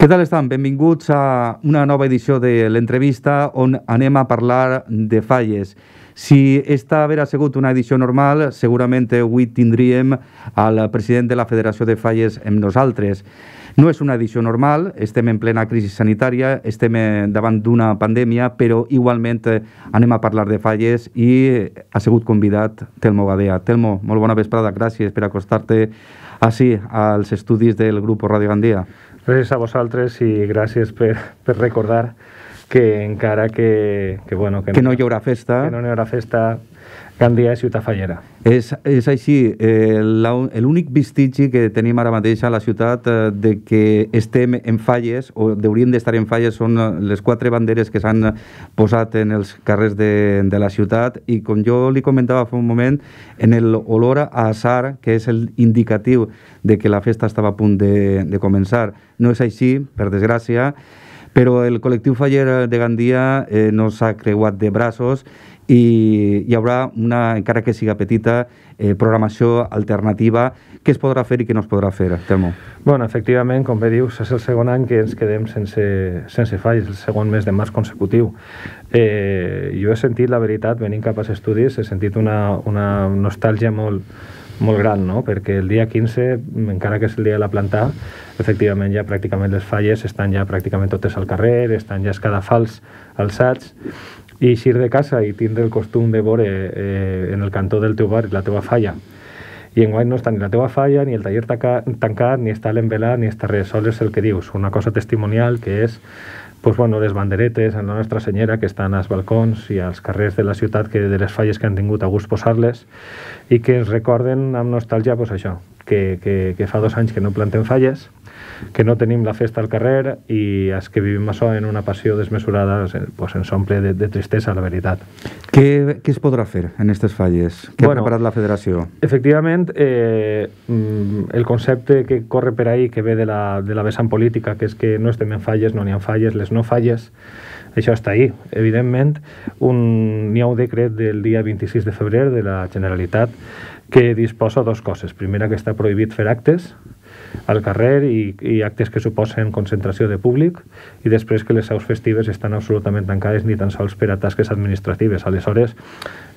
Què tal estan? Benvinguts a una nova edició de l'entrevista on anem a parlar de falles. Si esta haguera sigut una edició normal, segurament avui tindríem al president de la Federació de Falles amb nosaltres. No és una edició normal, estem en plena crisi sanitària, estem davant d'una pandèmia, però igualment anem a parlar de falles i ha sigut convidat Telmo Badea. Telmo, molt bona vesprada, gràcies per acostar-te així als estudis del grup Ràdio Gandia. Gràcies a vosaltres i gràcies per recordar que encara que no hi haurà festa. Que no hi haurà festa, Gandia és ciutat fallera. És així. L'únic vestigi que tenim ara mateix a la ciutat de que estem en falles, o hauríem d'estar en falles, són les 4 banderes que s'han posat en els carrers de la ciutat i, com jo li comentava fa un moment, en l'olor a azar, que és l'indicatiu de que la festa estava a punt de començar. No és així, per desgràcia, però el col·lectiu faller de Gandia no s'ha creuat de braços i hi haurà una, encara que siga petita, programació alternativa. Què es podrà fer i què no es podrà fer, Telmo? Bueno, efectivament, com bé dius, és el segon any que ens quedem sense falles, el segon mes de març consecutiu. Jo he sentit, la veritat, venint cap als estudis, he sentit una nostàlgia molt gran, no? Perquè el dia 15, encara que és el dia de la planta, efectivament ja pràcticament les falles estan ja pràcticament totes al carrer, estan ja escadafals alçats, i eixir de casa i tindre el costum de veure en el cantó del teu bar la teva falla. I enguany no està ni la teva falla, ni el taller tancat, ni està l'envelat, ni està res. Sols és el que dius, una cosa testimonial que és les banderetes en la Nostra Senyera que estan als balcons i als carrers de la ciutat, que de les falles que han tingut a gust posar-les i que ens recorden amb nostàlgia això, que fa 2 anys que no plantem falles, que no tenim la festa al carrer i els que vivim això en una passió desmesurada ens omple de tristesa, la veritat. Què es podrà fer en aquestes falles? Què ha preparat la federació? Efectivament, el concepte que corre per ahí, que ve de la vessant política, que és que no estem en falles, no n'hi ha falles, les no falles, això està ahí. Evidentment, n'hi ha un decret del dia 26 de febrer de la Generalitat que disposa 2 coses. Primera, que està prohibit fer actes al carrer i actes que suposen concentració de públic, i després que les seus festives estan absolutament tancades ni tan sols per a tasques administratives. Aleshores,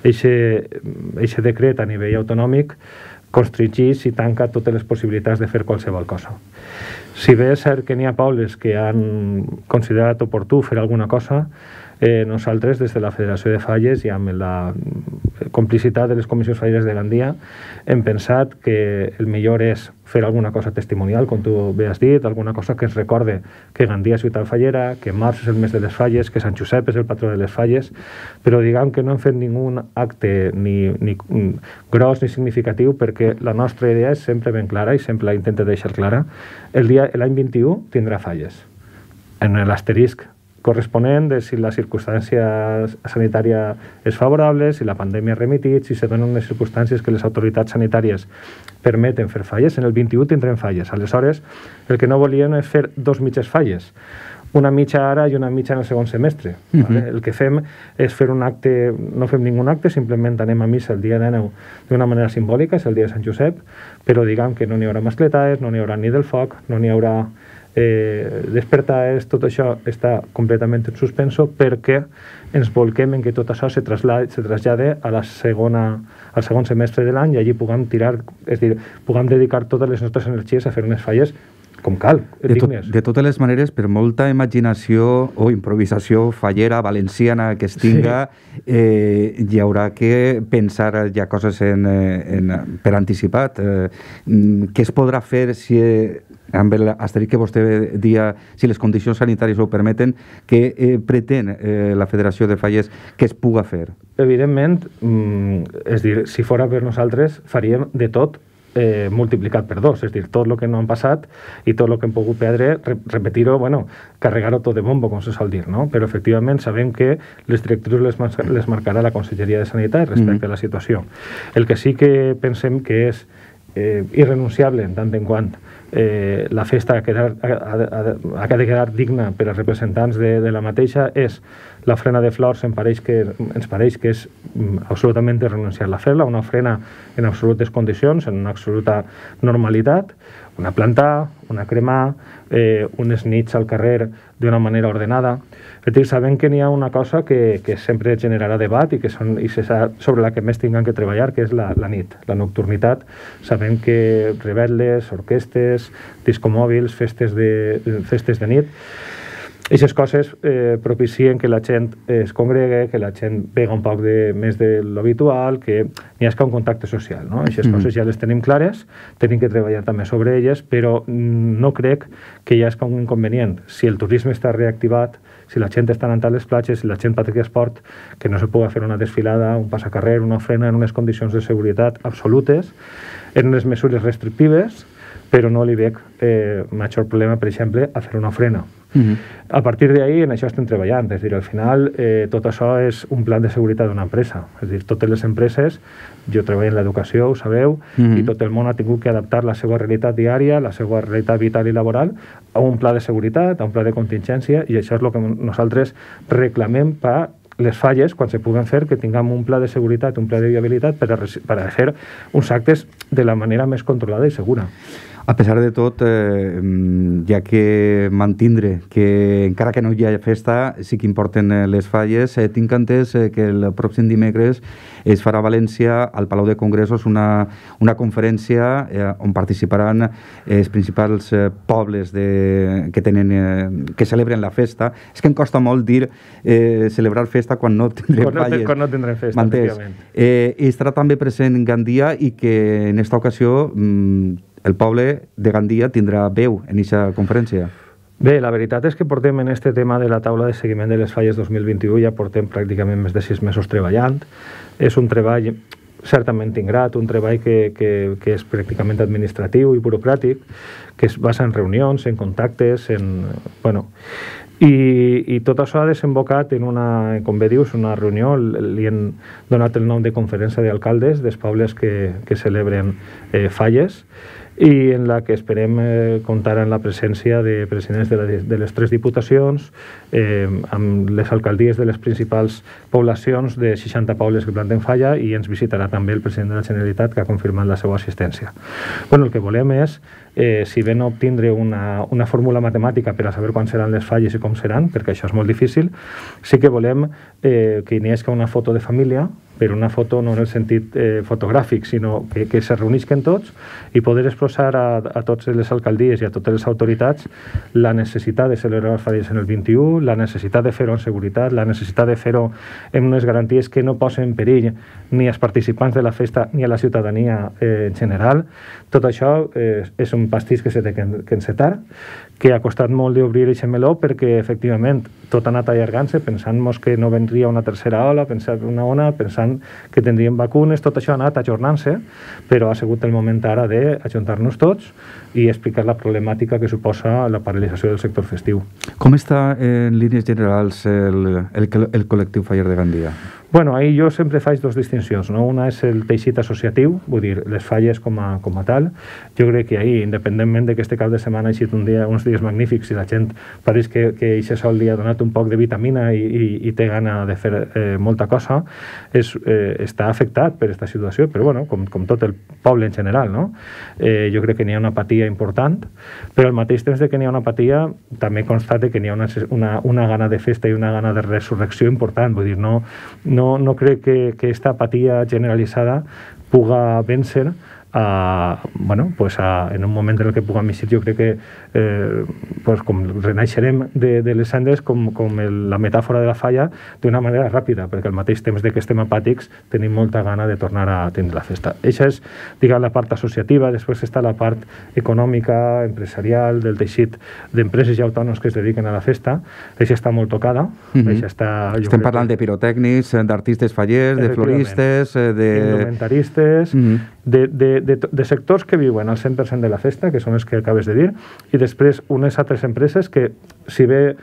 aquest decret a nivell autonòmic constringeix i tanca totes les possibilitats de fer qualsevol cosa. Si bé és cert que n'hi ha pobles que han considerat oportú fer alguna cosa, nosaltres, des de la Federació de Falles i amb la complicitat de les comissions falleres de Gandia, hem pensat que el millor és fer alguna cosa testimonial, com tu bé has dit, alguna cosa que ens recorde que Gandia és ciutat fallera, que març és el mes de les falles, que Sant Josep és el patró de les falles, però diguem que no hem fet ningú acte ni gros ni significatiu, perquè la nostra idea és sempre ben clara i sempre la intento deixar clara. L'any 21 tindrà falles. En l'asterisc corresponent de si la circumstància sanitària és favorable, si la pandèmia ha remitit, si se donen unes circumstàncies que les autoritats sanitàries permeten fer falles. En el 21 tindrem falles. Aleshores, el que no volíem és fer 2 mitges falles, una mitja ara i una mitja en el segon semestre. El que fem és fer un acte, no fem ningú acte, simplement anem a missa el dia 19 d'una manera simbòlica, és el dia de Sant Josep, però diguem que no n'hi haurà mascletades, no n'hi haurà ni del foc, no n'hi haurà despertades, tot això està completament en suspenso perquè ens volquem en que tot això se trasllade al segon semestre de l'any i allí puguem puguem dedicar totes les nostres energies a fer unes falles com cal, dignes. De totes les maneres, per molta imaginació o improvisació fallera, valenciana que es tinga, hi haurà que pensar ja coses per anticipat. Què es podrà fer si, amb l'asterisc que vostè dia, si les condicions sanitàries ho permeten, què pretén la Federació de Falles que es puga fer? Evidentment, és dir, si fora per nosaltres, faríem de tot multiplicat per 2, és dir, tot el que no han passat i tot el que hem pogut perdre, repetir-ho, carregar-ho tot de bombo, com se sol dir, no? Però efectivament sabem que les directrius les marcarà la Conselleria de Sanitat respecte a la situació. El que sí que pensem que és irrenunciable en tant en quant la festa ha de quedar digna per als representants de la mateixa és la ofrena de flors. Ens pareix que és absolutament irrenunciable a fer-la, una ofrena en absolutes condicions, en una absoluta normalitat, una plantar, una cremar, unes nits al carrer d'una manera ordenada. És a dir, sabem que n'hi ha una cosa que sempre generarà debat i sobre la que més tinguem que treballar, que és la nit, la nocturnitat. Sabem que revetles, orquestes, discomòbils, festes de nit, aquestes coses propicien que la gent es congregue, que la gent pega un poc més de l'habitual, que n'hi hagi un contacte social. Aquestes coses ja les tenim clares, tenim que treballar també sobre elles, però no crec que hi hagi un inconvenient. Si el turisme està reactivat, si la gent està anant a les platges, si la gent practica esport, que no se pugui fer una desfilada, un passacarrer, una ofrena en unes condicions de seguretat absolutes, en unes mesures restrictives, però no li veig major problema, per exemple, a fer una ofrena. A partir d'ahí, en això estem treballant. És a dir, al final, tot això és un plan de seguretat d'una empresa. És a dir, totes les empreses, jo treballo en l'educació, ho sabeu, i tot el món ha tingut que adaptar la seva realitat diària, la seva realitat vital i laboral, a un pla de seguretat, a un pla de contingència, i això és el que nosaltres reclamem per les falles, quan se puguen fer, que tinguem un pla de seguretat, un pla de viabilitat per a fer uns actes de la manera més controlada i segura. A pesar de tot, ja que mantindre que encara que no hi hagi festa sí que importen les falles, tinc entès que el pròxim dimecres es farà a València, al Palau de Congressos, una conferència on participaran els principals pobles que celebren la festa. És que em costa molt dir celebrar festa quan no tindrem falles. Quan no tindrem festa, efectivament. Estarà també present Gandia i que en esta ocasió el poble de Gandia tindrà veu en aquesta conferència. Bé, la veritat és que portem en este tema de la taula de seguiment de les falles 2021, ja portem pràcticament més de 6 mesos treballant. És un treball certament ingrat, un treball que és pràcticament administratiu i burocràtic, que es basa en reunions, en contactes, i tot això ha desembocat en una, com bé dius, una reunió, li han donat el nom de conferència d'alcaldes dels pobles que celebren falles, i en la que esperem comptar amb la presència de presidents de les 3 diputacions, amb les alcaldies de les principals poblacions de 60 pobles que planten falla, i ens visitarà també el president de la Generalitat, que ha confirmat la seva assistència. El que volem és, si bé no obtindre una fórmula matemàtica per a saber quan seran les falles i com seran, perquè això és molt difícil, sí que volem que n'hi hagi una foto de família, però una foto no en el sentit fotogràfic, sinó que se reunisquen tots i poder expressar a totes les alcaldies i a totes les autoritats la necessitat de celebrar les falles en el 21, la necessitat de fer-ho en seguretat, la necessitat de fer-ho amb unes garanties que no posen en perill ni als participants de la festa ni a la ciutadania en general. Tot això és un pastís que s'ha de encetar, que ha costat molt d'obrir aquest meló perquè, efectivament, tot ha anat allargant-se, pensant-nos que no vendria una tercera ola, pensant una ona, pensant que tindríem vacunes, tot això ha anat ajornant-se, però ha sigut el moment ara d'ajuntar-nos tots i explicar la problemàtica que suposa la paralització del sector festiu. Com està, en línies generals, el col·lectiu faller de Gandia? Ahir jo sempre faig 2 distincions, no? Una és el teixit associatiu, vull dir, les falles com a tal. Jo crec que ahir, independentment que este cap de setmana ha sigut uns dies magnífics i la gent pareix que aquest sol li ha donat un poc de vitamina i té gana de fer molta cosa, està afectat per aquesta situació, però com tot el poble en general, no? Jo crec que n'hi ha una apatia important, però al mateix temps que n'hi ha una apatia també constate que n'hi ha una gana de festa i una gana de resurrecció important. Vull dir, no crec que aquesta apatia generalitzada puga vèncer en un moment en què puguem eixir. Jo crec que com renaixerem de les cendres com la metàfora de la falla d'una manera ràpida, perquè al mateix temps que estem apàtics tenim molta gana de tornar a tindre la festa. Això és, diguem, la part associativa. Després està la part econòmica, empresarial, del teixit d'empreses i autònoms que es dediquen a la festa. Això està molt tocada. Estem parlant de pirotècnics, d'artistes fallers, de floristes, indumentaristes, de sectors que viuen al 100% de la festa, que són els que acabes de dir, i després unes altres empreses que, si bé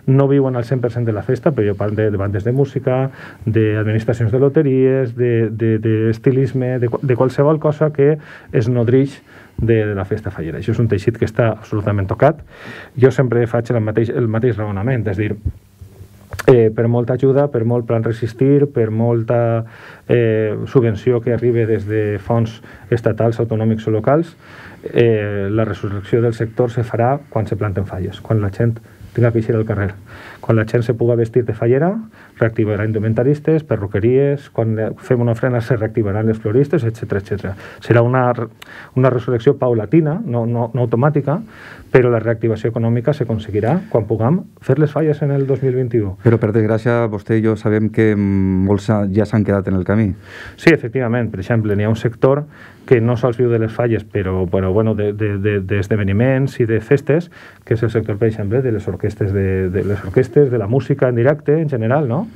no viuen al 100% de la festa, però jo parlo de bandes de música, d'administracions de loteries, d'estilisme, de qualsevol cosa que es nodreix de la festa fallera. Això és un teixit que està absolutament tocat. Jo sempre faig el mateix raonament, és dir, per molta ajuda, per molt plan resistir, per molta subvenció que arribi des de fons estatals, autonòmics o locals, la resurrecció del sector se farà quan se planten falles, quan la gent tinga que eixir al carrer. Quan la gent se puga vestir de fallera, reactivarà indumentaristes, perruqueries, quan fem una ofrena se reactivaran les floristes, etc. Serà una resurrecció paulatina, no automàtica, però la reactivació econòmica s'aconseguirà quan puguem fer les falles en el 2021. Però, per desgràcia, vostè i jo sabem que molts ja s'han quedat en el camí. Sí, efectivament. Per exemple, n'hi ha un sector que no sols viu de les falles, però bueno, d'esdeveniments i de festes, que és el sector, per exemple, de les orquestes, de la música en directe, en general, no?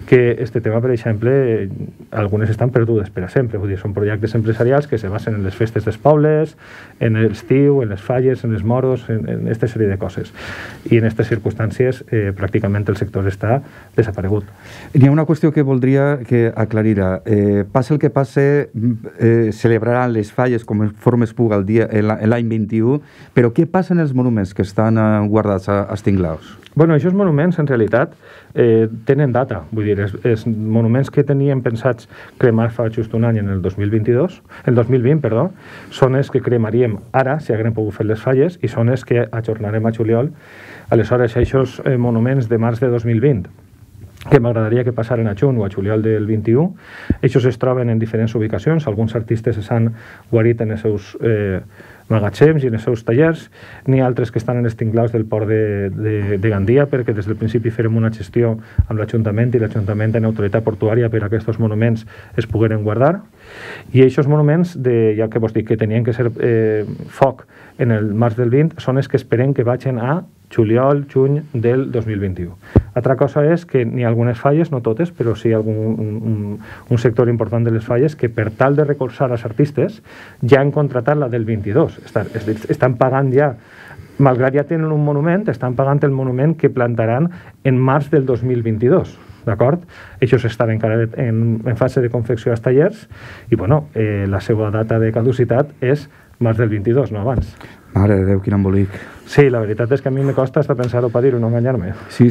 Que este tema, per exemple, algunes estan perdudes per a sempre. Vull dir, són projectes empresarials que se basen en les festes dels pobles, en l'estiu, en les falles, en els moros, en aquesta sèrie de coses. I en aquestes circumstàncies, pràcticament el sector està desaparegut. Hi ha una qüestió que voldria que aclarira. Passa el que passe, celebraran les falles conforme es puga l'any 21, però què passa en els monuments que estan guardats a Estinglaus? Bueno, aquests monuments, en realitat, tenen data. Vull dir, els monuments que teníem pensats cremar fa just un any, en el 2020, perdó, són els que cremaríem ara, si haguem pogut fer les falles, i són els que ajornarem a juliol. Aleshores, aquests monuments de març de 2020, que m'agradaria que passaren a juny o a juliol del 21, ells es troben en diferents ubicacions. Alguns artistes s'han guarit en els seus magatzems i en els seus tallers. N'hi ha altres que estan en els tinglaus del port de Gandia, perquè des del principi farem una gestió amb l'Ajuntament, i l'Ajuntament en autoritat portuària per a aquests monuments es pogueren guardar. I aquests monuments, ja que vos dic que tenien que ser foc en el març del 20, són els que esperem que vagin a juliol, juny del 2021. Altra cosa és que n'hi ha algunes falles, no totes, però sí un sector important de les falles que, per tal de recolzar els artistes, ja han contratat la del 22. Estan pagant ja, malgrat ja tenen un monument, estan pagant el monument que plantaran en març del 2022. D'acord? Ells estan encara en fase de confecció als tallers i, bueno, la seva data de caducitat és març del 22, no abans. Mare de Déu, quin embolic. Sí, la veritat és que a mi me costa hasta pensar-ho per dir-ho, no enganyar-me. Sí.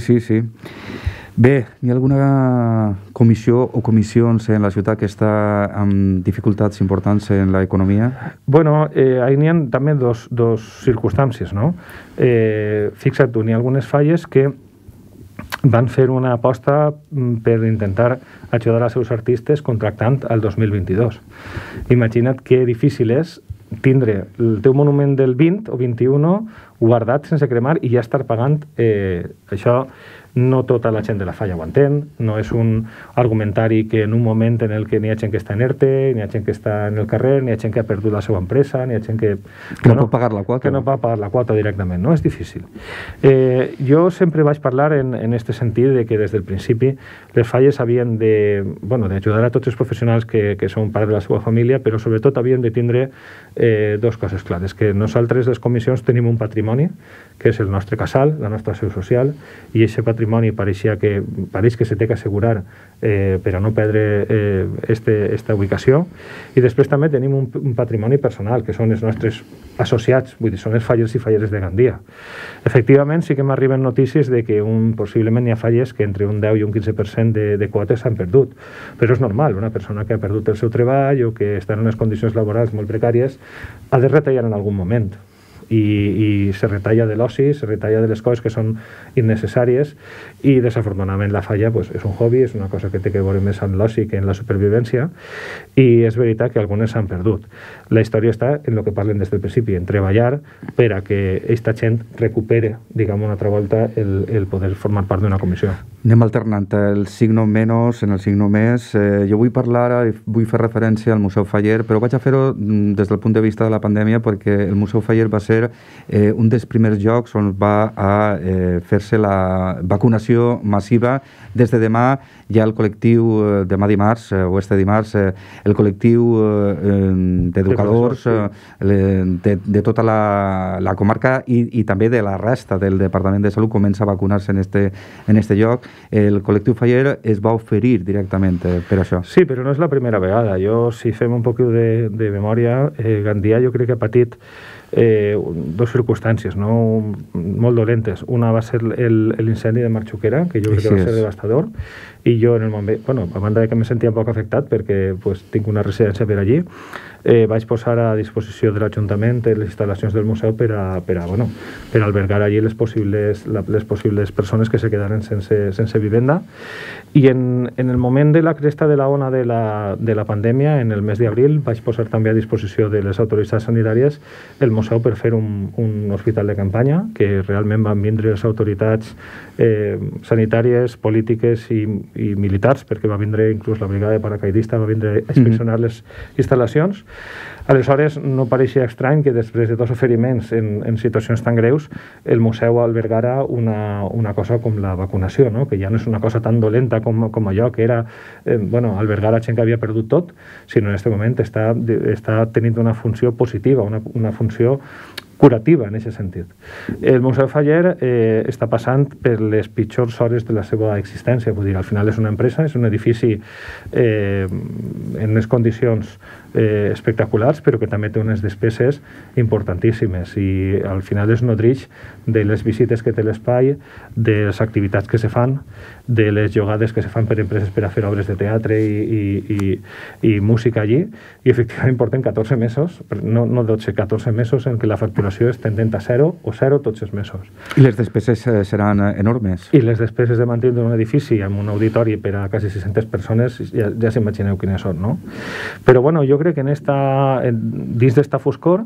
Bé, hi ha alguna comissió o comissions en la ciutat que està amb dificultats importants en l'economia? Bueno, ahí n'hi ha també dos circumstàncies, no? Fixa't tu, n'hi ha algunes falles que van fer una aposta per intentar ajudar als seus artistes contractant el 2022. Imagina't que difícil és tindre el teu monument del 20 o 21 guardat sense cremar i ja estar pagant això. No tota la gent de la falla ho entén, no és un argumentari que en un moment en el que n'hi ha gent que està en ERTE, n'hi ha gent que està en el carrer, n'hi ha gent que ha perdut la seva empresa, n'hi ha gent que no pot pagar la quota. Que no pot pagar la quota directament, no? És difícil. Jo sempre vaig parlar en aquest sentit de que des del principi les falles havien d'ajudar a tots els professionals que són part de la seva família, però sobretot havien de tindre dues coses clares, que nosaltres les comissions tenim un patrimoni, que és el nostre casal, la nostra seu social, i aquest patrimoni pareix que se té que assegurar per a no perdre esta ubicació. I després també tenim un patrimoni personal, que són els nostres associats, vull dir, són els fallers i falleres de Gandia. Efectivament, sí que m'arriben notícies de que possiblement hi ha falles que entre un 10 i un 15% de quotes s'han perdut. Però és normal, una persona que ha perdut el seu treball o que està en unes condicions laborals molt precàries ha de retallar en algun moment. I se retalla de l'oci, se retalla de les coses que són innecessàries, i desafortunadament la falla és un hobby, és una cosa que té que veure més amb l'oci que en la supervivència, i és veritat que algunes s'han perdut. La història està en el que parlen des del principi, en treballar per a que aquesta gent recupere, diguem, una altra volta el poder formar part d'una comissió. Anem alternant el signo menys en el signo més. Jo vull parlar, vull fer referència al Museu Faller, però vaig a fer-ho des del punt de vista de la pandèmia, perquè el Museu Faller va ser un dels primers llocs on va fer-se la vacunació massiva. Des de demà hi ha el col·lectiu, demà dimarts o este dimarts, el col·lectiu d'educadors de tota la comarca i també de la resta del Departament de Salut comença a vacunar-se en este lloc. El col·lectiu Faller es va oferir directament per això. Sí, però no és la primera vegada. Si fem un poc de memòria, Gandia jo crec que ha patit dos circumstàncies, no? Molt dolentes. Una va ser l'incendi de Marxuquera, que jo crec que va ser devastador, i jo en el moment, bueno, a banda que me sentia poc afectat perquè pues, tinc una residència per allí, vaig posar a disposició de l'Ajuntament les instal·lacions del museu per albergar allí les possibles persones que se quedaren sense vivenda. I en el moment de la cresta de la ona de la pandèmia, en el mes d'abril, vaig posar també a disposició de les autoritats sanitàries el museu per fer un hospital de campanya, que realment van vindre les autoritats sanitàries, polítiques i militars, perquè va vindre inclús la brigada de paracaidista, va vindre a inspeccionar les instal·lacions. Aleshores, no pareixia estrany que després de dos oferiments en situacions tan greus, el museu albergara una cosa com la vacunació, no? Que ja no és una cosa tan dolenta com allò que era albergar a gent que havia perdut tot, sinó en aquest moment està tenint una funció positiva, una funció curativa en aquest sentit. El Museu Faller està passant per les pitjors hores de la seva existència, vull dir, al final és una empresa, és un edifici en unes condicions espectaculars, però que també té unes despeses importantíssimes i al final es nodreix de les visites que té l'espai, de les activitats que se fan, de les jugades que se fan per empreses per a fer obres de teatre i música allí, i efectivament porten 14 mesos, no 12, 14 mesos en què la facturació és tendent a 0 o 0 tots els mesos. I les despeses seran enormes. I les despeses de mantenir un edifici amb un auditori per a quasi 600 persones ja s'imagineu quines són, no? Però bueno, jo crec que dins d'esta foscor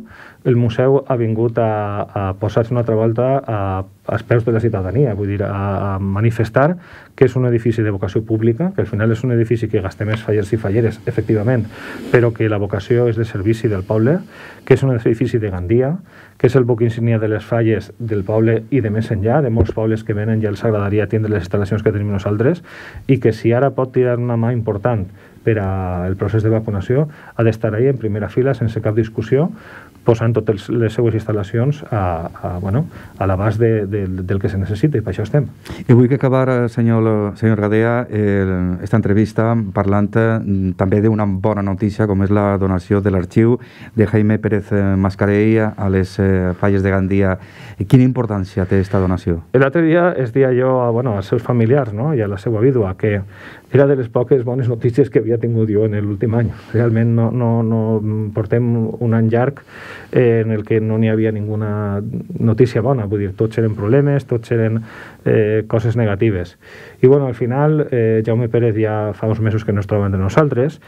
el museu ha vingut a posar-se una altra volta als peus de la ciutadania, vull dir, a manifestar que és un edifici de vocació pública, que al final és un edifici que gasta més fallers i falleres, efectivament, però que la vocació és de servici del poble, que és un edifici de Gandia, que és el buc insígnia de les falles del poble i de més enllà, de molts pobles que venen i els agradaria atendre les instal·lacions que tenim nosaltres, i que si ara pot tirar una mà important per al procés de vacunació, ha d'estar ahí en primera fila, sense cap discussió, posant totes les seues instal·lacions a l'abast del que se necessita, i per això estem. I vull acabar, senyor Gadea, esta entrevista parlant també d'una bona notícia, com és la donació de l'arxiu de Jaime Pérez Mascarell a les falles de Gandia. Quina importància té aquesta donació? L'altre dia es deia jo als seus familiars, no? I a la seva vídua, que era de les poques bones notícies que havia tingut jo en l'últim any. Realment no portem un any llarg en el que no n'hi havia ninguna notícia bona, vull dir, tots eren problemes, tots eren coses negatives. I al final Jaume Pérez ja fa uns mesos que no es troba entre nosaltres,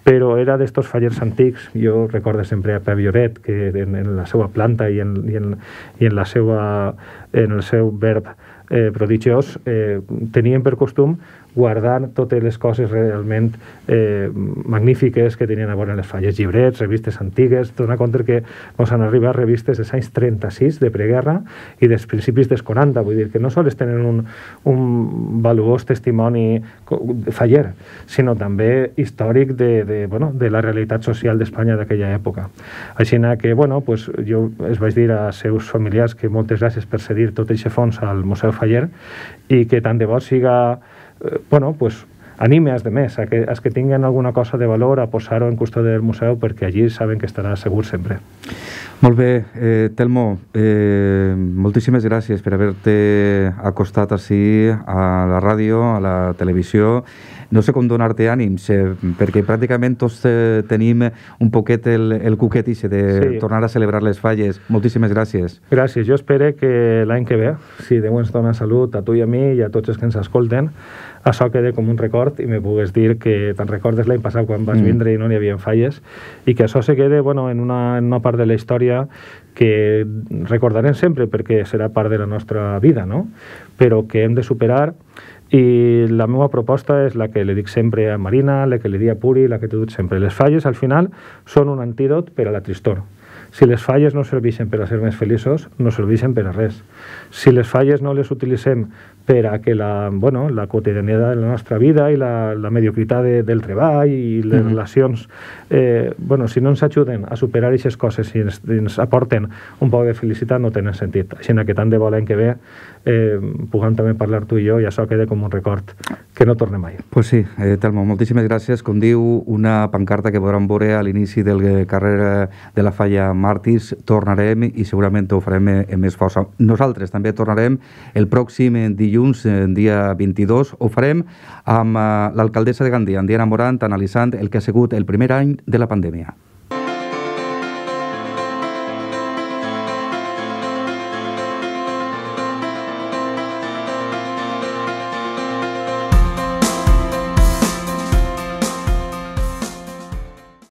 però era d'estos fallers antics. Jo recordo sempre a Pep Lloret, que en la seva planta i en el seu verb prodigiós tenien per costum guardar totes les coses realment magnífiques que tenien a veure les falles, llibrets, revistes antigues. Dona compte que ens han arribat revistes dels anys 36 de preguerra i dels principis dels 40, vull dir que no sols tenen un valuós testimoni faller, sinó també històric de la realitat social d'Espanya d'aquella època. Així que, jo es vaig dir als seus familiars que moltes gràcies per cedir tot aquest fons al Museu Faller i que tant de bo siga anime als demés, a que tinguen alguna cosa de valor a posar-ho en custòdia del museu, perquè allí saben que estarà segur sempre. Molt bé, Telmo, moltíssimes gràcies per haver-te acostat així a la ràdio, a la televisió. No sé com donar-te ànims, perquè pràcticament tots tenim un poquet el cuquet de tornar a celebrar les falles. Moltíssimes gràcies. Gràcies. Jo espero que l'any que ve, si Déu ens dona salut a tu i a mi i a tots els que ens escolten, això quede com un record i me pugues dir que te'n recordes l'any passat quan vas vindre i no n'hi havia falles, i que això se quede en una part de la història que recordarem sempre perquè serà part de la nostra vida, no? Però que hem de superar. I la meva proposta és la que li dic sempre a Marina, la que li dic a Puri, la que t'he dit sempre. Les falles, al final, són un antídot per a la tristor. Si les falles no serveixen per a ser més feliços, no serveixen per a res. Si les falles no les utilitzem per a que la quotidianitat de la nostra vida i la mediocritat del treball i les relacions, si no ens ajuden a superar aquestes coses i ens aporten un poc de felicitat, no tenen sentit. Així que tant de bo l'any que ve puguem també parlar tu i jo i això queda com un record que no torni mai. Pues sí, Telmo, moltíssimes gràcies. Com diu, una pancarta que podran veure a l'inici del carrer de la Falla Màrtirs. Tornarem i segurament ho farem amb més força. Nosaltres també tornarem el pròxim dilluns, dia 22. Ho farem amb l'alcaldessa de Gandia, Diana Morant, analitzant el que ha sigut el primer any de la pandèmia.